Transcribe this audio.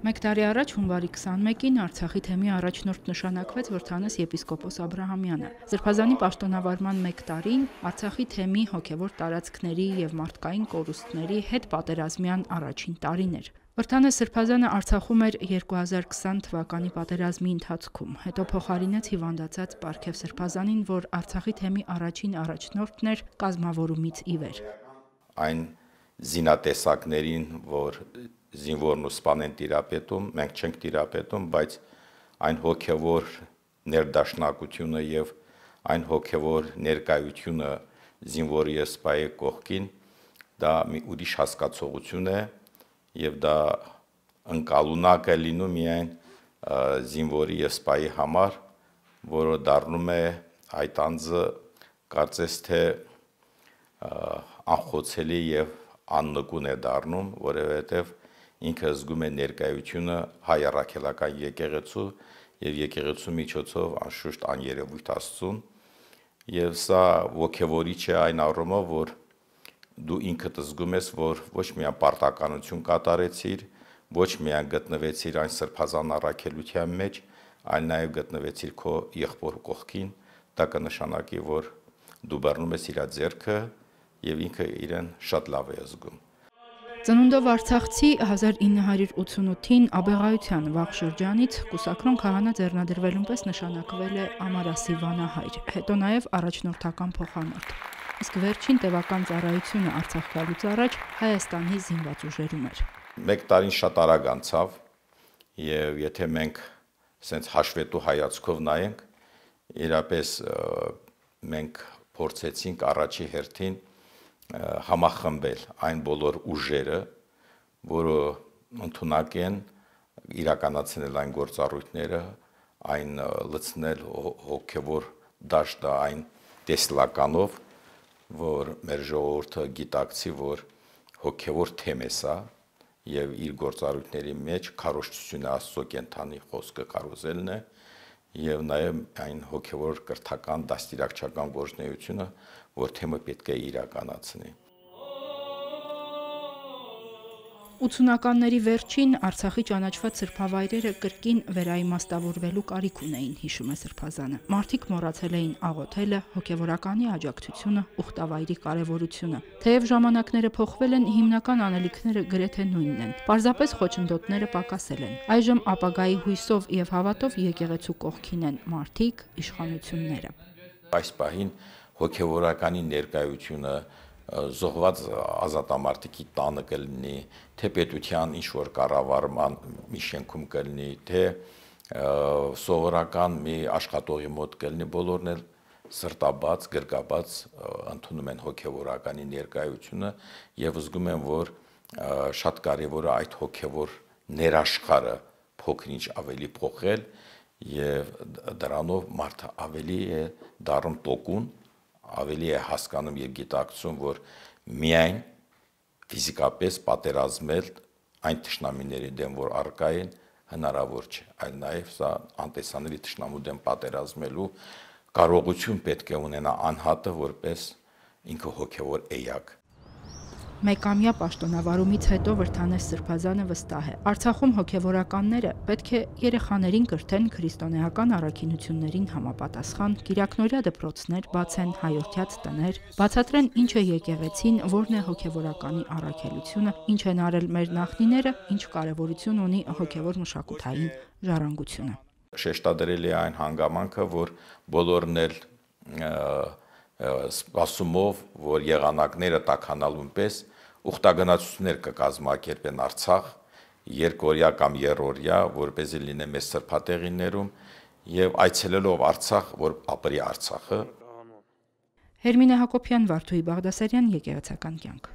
Մեկ տարի առաջ հունվարի 21-ին Արցախի թեմի առաջնորդ նշանակվեց Վրթանես եպիսկոպոս Աբրահամյանը։ Սրբազանի պաշտոնավարման մեկ տարին Արցախի թեմի հոգևոր տարածքների եւ մարդկային կորուստների հետ պատերազմյան առաջին տարին էր։ Վրթանես Սրբազանը Արցախում էր 2020 թվականի պատերազմի ընթացքում, հետո փոխարինեց հիվանդացած Պարքև Սրբազանին, որ Արցախի թեմի առաջին առաջնորդն էր կազմավորումից ի վեր։ Այն զինատեսակներին, որ զինվորն ու սպան են տիրապետում, մենք չենք տիրապետում, բայց այն հոգևոր ներդաշնակությունը եւ այն հոգևոր ներկայությունը զինվորի եւ սպայի կողքին, դա մի ուրիշ հասկացողություն է եւ դա ընկալունակ է լինում միայն զինվորի եւ սպայի համար, որը դառնում է այդ անձը կարծես թե անխոցելի եւ աննկուն է դառնում, որովհետեւ ինքը զգում է ներկայությունը հայ առաքելական եկեղեցու եւ եկեղեցու միջոցով անշուշտ աներևույթ Աստծուն եւ սա ոգևորիչ է այն առումով, որ դու ինքդ զգում ես, որ ոչ միայն պարտականություն կատարեցիր, ոչ միայն գտնվեցիր այն սրբազան առաքելության մեջ, այլ նաեւ գտնվեցիր քո եղբոր կողքին, դա կնշանակի, որ դու բռնում ես իր ձեռքը եւ ինքը իրեն շատ լավ է զգում։ Ծնունդով Արցախցի 1988-ին Աբեղայության վաղ շրջանից կուսակրոն քահանա ձեռնադրվելուն պես նշանակվել է Ամարասի վանահայր, հետո նաև առաջնորդական փոխանորդ։ Իսկ վերջին տևական ծառայությունը Արցախ գալուց առաջ Հայաստանի զինված ուժերում էր։ Մեկ տարին շատ արագ անցավ եւ եթե մենք սենց հաշվետու հայացքով նայենք, իրապես մենք փորձեցինք առաջի հերթին համախմբել այն բոլոր ուժերը, որը ընդունակ են իրականացնել այն գործառույթները, այն լցնել հոգևոր դաշտը այն տեսլականով, որ մեր ժողովուրդը գիտակցի, որ հոգևոր թեմ է սա եւ իր գործառույթների մեջ քարոզչությունը Աստծո կենթանի խոսքը կարոզելն է եւ նաեւ այն հոգևոր կրթական դաստիարակչական գործունեությունը, որ թեմը պետք է իրականացնի։ 80-ականների վերջին Արցախի ճանաչված սրբավայրերը կրկին վերաիմաստավորվելու կարիք ունեին, հիշում է Սրբազանը։ Մարդիկ մոռացել էին աղոթելը, հոգևորականի աջակցությունը, ուխտավայրի կարևորությունը։ Թեև ժամանակները փոխվել են, հիմնական անելիքները գրեթե նույնն են։ Պարզապես խոչընդոտները պակասել են։ Այժմ ապագայի հույսով եւ հավատով եկեղեցու կողքին են մարդիկ, իշխանությունները։ Այս պահին հոգևորականի ներկայությունը զոհված ազատամարտիկի տանը կլինի, թե պետության ինչ-որ կառավարման մի շենքում կլինի, թե սովորական մի աշխատողի մոտ կլինի, բոլորն էլ սրտաբաց, գրկաբաց ընդունում են հոգևորականի ներկայությունը եւ զգում են, որ շատ կարեւոր է այդ հոգևոր ներաշխարը փոքրինչ ավելի փոխել եւ դրանով մարդը ավելի է դառնում տոկուն, ավելի է հասկանում եւ գիտակցում, որ միայն ֆիզիկապես պատերազմել այն թշնամիների դեմ, որ առկա են, հնարավոր չէ, այլ նաեւ սա անտեսանելի թշնամու դեմ պատերազմելու կարողություն պետք է ունենա անհատը, որպես ինքը հոգևոր էակ։ Մեկամյա պաշտոնավարումից հետո Վրթանես Սրբազանը վստահ է։ Արցախում հոգևորականները պետք է երեխաներին կրթեն քրիստոնեական առաքինություններին համապատասխան, կիրակնօրյա դպրոցներ բացեն, հայորդյաց տներ, բացատրեն ինչ է եկեղեցին, որն է հոգևորականի առաքելությունը, ինչ են արել մեր նախնիները, ինչ կարևորություն ունի հոգևոր մշակութային ժառանգությունը։ Շեշտադրելի է այն հանգամանքը, որ բոլորն էլ սպասումով, որ եղանակները տաքանալուն պես ուխտագնացություններ կկազմակերպեն Արցախ, երկօրյա կամ երրորդյա, որպեսզի լինեն մեծ սրբատեղիներում եւ այցելելով Արցախ, որ ապրի Արցախը։ Հերմինե Հակոբյան, Վարդուհի Բաղդասարյան, Եկեղեցական կյանք։